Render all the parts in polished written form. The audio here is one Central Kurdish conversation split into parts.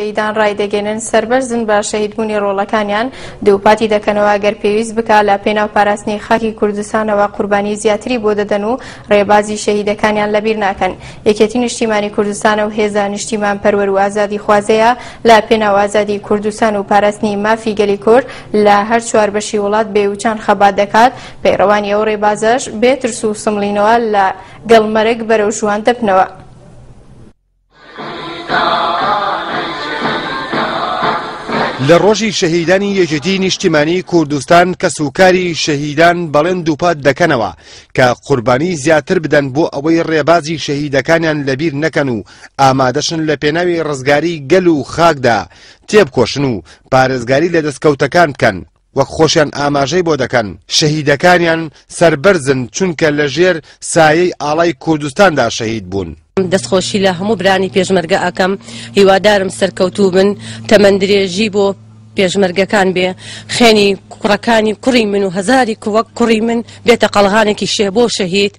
شەهیدان ڕایدەگەینن سەربەرزن بە شەهیدبوونی ڕۆڵەکانیان، دووپاتی دەکەنەوە گەر پێویست بکا لە پێناو پاراستنی خاکی کوردستانەوە قوربانی زیاتری بۆ دەدەن و ڕێبازی شەهیدەکانیان لەبیر ناکەن. یەکێتی نیشتیمانی کوردستان ئەو هێزە نیشتیمانپەروەر و ئازادیخوازەیە لە پێناو ئازادی کوردستان و پاراستنی مافی گەلی کورد لە هەر چوار بەشی وڵات بێ وچان خەبات دەکات، پەیڕەوانی ئەو ڕێبازەش بێ ترس و سمڵینەوە لە گەڵ مەرگ بەرەو ژوان دەبنەوە. لە ڕۆژی شەهیدانی یەکێتی نیشتیمانی کوردستان کەسوکاری شەهیدان بەڵێن دووپات دەکەنەوە کە قوربانی زیاتر بدەن بۆ ئەوەی ڕێبازی شەهیدەکانیان لەبیر نەکەن و ئامادەشن لە پێناوی ڕزگاری گەل و خاکدا تێبکۆشن و پارێزگاری لە دەستکەوتەکان بکەن. وەک خۆشیان ئاماژەی بۆ دەکەن شەهیدەکانیان سەربەرزن چونکە لە ژێر سایەی ئاڵای کوردستاندا شەهید بوون. دەستخۆشی لە هەموو برانی پێشمەرگە ئەکەم هیوادارم سەرکەوتوو بن تەمەن درێژی بۆ پێشمەرگەکان بێ خوێنی کوڕەکانی کوڕی من و هەزاری وەک کوڕی من بێتە قەڵغانێکی شێ بۆ شەهید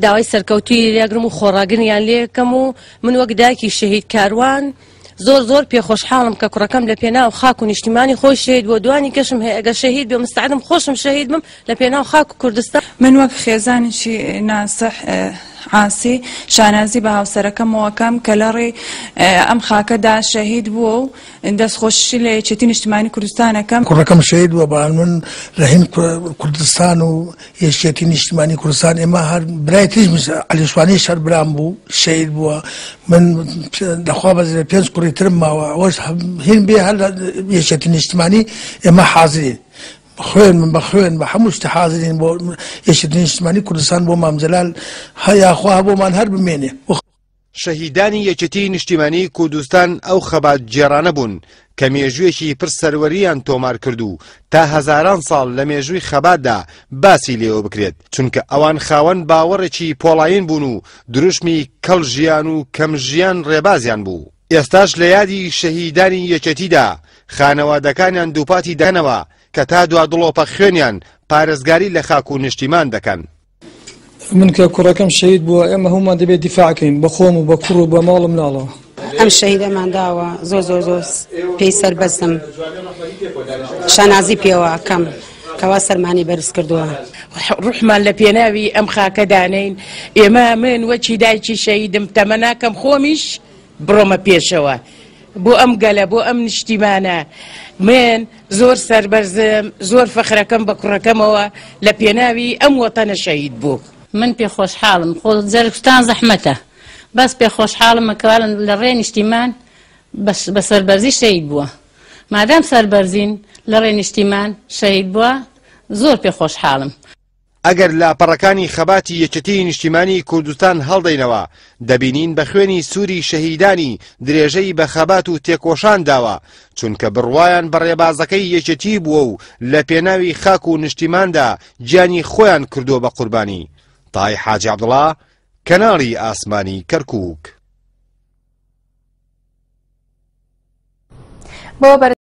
داوای سەرکەوتووی لێگرم و خۆڕاگریان لێکەم و من وەک دایکی شەهید کاروان زۆر زۆر پێ خۆشحاڵم کە کوڕەکەم لە پێناو خاک و نیشتیمانی خۆی شەهید بووە دوانی کەشم هەیە ئەگەر شەهید بێ مستعدم خۆشم شەهید بم لە پێناو خاک و کوردستان. من وەک خێزانێکی ناسح عاسی شانازی بە هاوسەرەکەمەوە ئەکەم کە لەڕێی ئەم خاکەدا شەهید بووە و دەستخۆشی لە یەکێتی نیشتیمانی کوردستان ئەکەم. کوڕەکەم شەهید بووە بەڵام من رەهین کوردستان و یەکێتی نیشتیمانی کوردستان ئێمە هەر برای تریش عەلی شوانیش هەر برام بوو شەهید بووە من لەخوا بەزێ پێنج کوڕی ترم ماوە ئەوەش هین بێ هەر لە یەکێتی نیشتمانی ئێمە حازرین خوێن من بە خوێن بە هەموو شتی حازرین بۆ یەکێتی نیشتمانی کوردستان بۆ مام جەلال هەیاخوا بۆمان هەر بمێنێ. شەهیدانی یەکێتیی نیشتیمانیی کوردستان ئەو خەباتگێڕانە بوون کە مێژوویەکی پڕ سەروەرییان تۆمار کرد و تا هەزاران ساڵ لە مێژووی خەباتدا باسی لێوە بکرێت، چونکە ئەوان خاوەن باوەڕێکی پۆڵایین بوون و دروشمی کەڵ ژیان و کەم ژیان ڕێبازیان بوو. ئێستاش لە یادی شەهیدانی یەکێتیدا خانەوادەکانیان دووپاتی دەکەنەوە کە تا دوا دڵۆپە خوێنیان پارێزگاری لە خاک و نیشتیمان دەکەن. من کە کوڕەکەم شەهید بووە ئێمە هەموومان دەبێت دیفاع کەین بە خۆم و بە کوڕ و بە ماڵ و مناڵەوە. ئەم شەهیدەمان داوە زۆر زۆر زۆر پێی سەربەرزم شانازی پێوە ئەکەم کەوا سەرمانی بەرز کردووە. ڕوحمان لە پێناوی ئەم خاکە دانێین ئێمە من وەکی دایکی شەهیدم تەمەناکەم خۆمیش بڕۆمە پێشەوە بۆ ئەم گەلە بۆ ئەم نیشتیمانە من زۆر سەربەرزم زۆر فەخرەکەم بە کوڕەکەمەوە لە پێناوی ئەم وەتەنە شەهید بوو. من پێ خۆشحاڵم خۆ جەرگسوتان زەحمەتە بەس پێ خۆشحاڵم کەوا لە ڕێ نیشتیمان بە سەربەرزی شەهید بووە مادام سەربەرزین لە ڕێ نیشتیمان شەهید بووە زۆر پێ خۆشحاڵم. ئەگەر لاپەڕەکانی خەباتی یەکێتیی نیشتیمانیی کوردستان هەڵدەینەوە، دەبینین بە خوێنی سووری شەهیدانی درێژەی بە خەبات و تێکۆشان داوە، چونکە بڕوایان بە ڕێبازەکەی یەکێتی بووە و لە پێناوی خاک و نیشتیماندا گیانی خۆیان کردووە بە قوربانی. تای حاجی عەبدوڵا، کەناڵی ئاسمانی کەرکووک. بۆ.